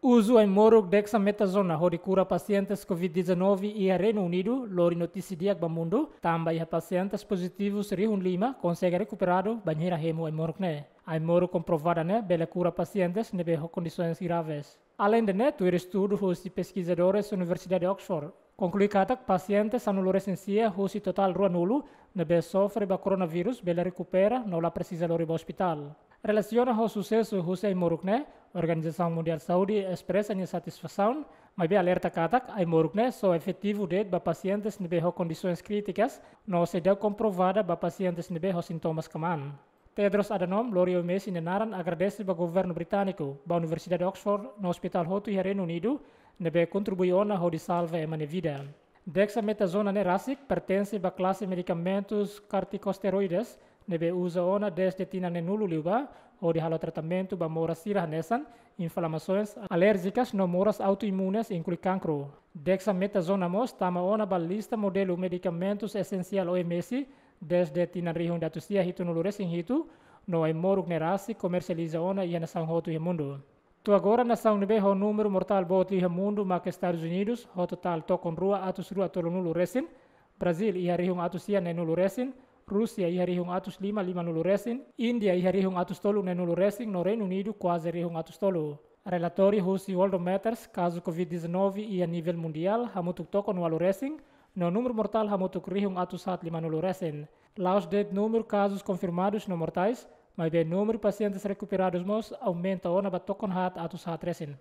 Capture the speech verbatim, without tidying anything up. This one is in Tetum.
Uzu ai-moruk dexametazona hodi kura pasientes covid dezanove iha Reinu Unidu lori notísia di'ak ba mundu, tanba iha pasientes pozitivus rihun lima konsege rekuperadu bainhira hemu ai-moruk ne'e. Ai-moruk komprovada ne'e bele kura pasientes ne'ebé ho kondisoens graves. Aleinde ne'e, tuir estudu husi peskizadores Universidade Oxford, konklui katak pasiente sanulu-resin-sia husi totál ruanulu ne'ebé sofre ba koronavírus bele rekupera no la presiza lori ba ospitál. Relasiona ho susesu husi ai-moruk ne'e, Organizasaun Mundiál Saúde espresa nia satisfasaun, maibé alerta katak ai-moruk ne'e só efetivu de'it ba pasientes ne'ebé ho kondisoens krítikas no seidauk komprovada ba pasientes ne'ebé ho sintomas kmaan. Tedros Adhanom lori O M S nia naran agradese ba governu britániku, ba Universidade Oxford no ospitál hotu iha Reinu Unidu ne'ebé kontribui ona hodi salva ema nia vida. Dexametazona ne'e rasik pertense ba klase medikamentus kortikosteroides ne'ebé uza ona dezde tinan neenulu liubá hodi halo tratamentu ba moras sira hanesan inflamasoens alérjikas no moras autoimunes, inklui kankru. Dexametazona mós tama ona ba lista modelu medikamentus esensiál O M S dezde tinan rihun ida atus sia hitunulu-resin-hitu, no ai-moruk ne'e rasik komersializa ona iha nasaun hotu iha mundu. To'o agora nasaun ne'ebé ho númeru mortál boot liu iha mundu mak Estadus Unidus, ho totál tokon rua atus rua tolunulu-resin, Brazíl iha rihun atus sia neenulu-resin, Rúsia iha rihun atus lima limanulu-resin, Índia iha rihun atus tolu neenulu-resin, no Reinu Unidu kuaze rihun atus tolu. Relatóriu husi Worldometers, kazu covid dezanove iha nivel mundiál hamutuk tokon ualu-resin, no númeru mortál hamutuk rihun atus haat limanulu-resin. La'ós de'it númeru kazus konfirmadus no mortais, maibé númeru pasientes rekuperadus mós aumenta ona ba tokon haat atus haat-resin.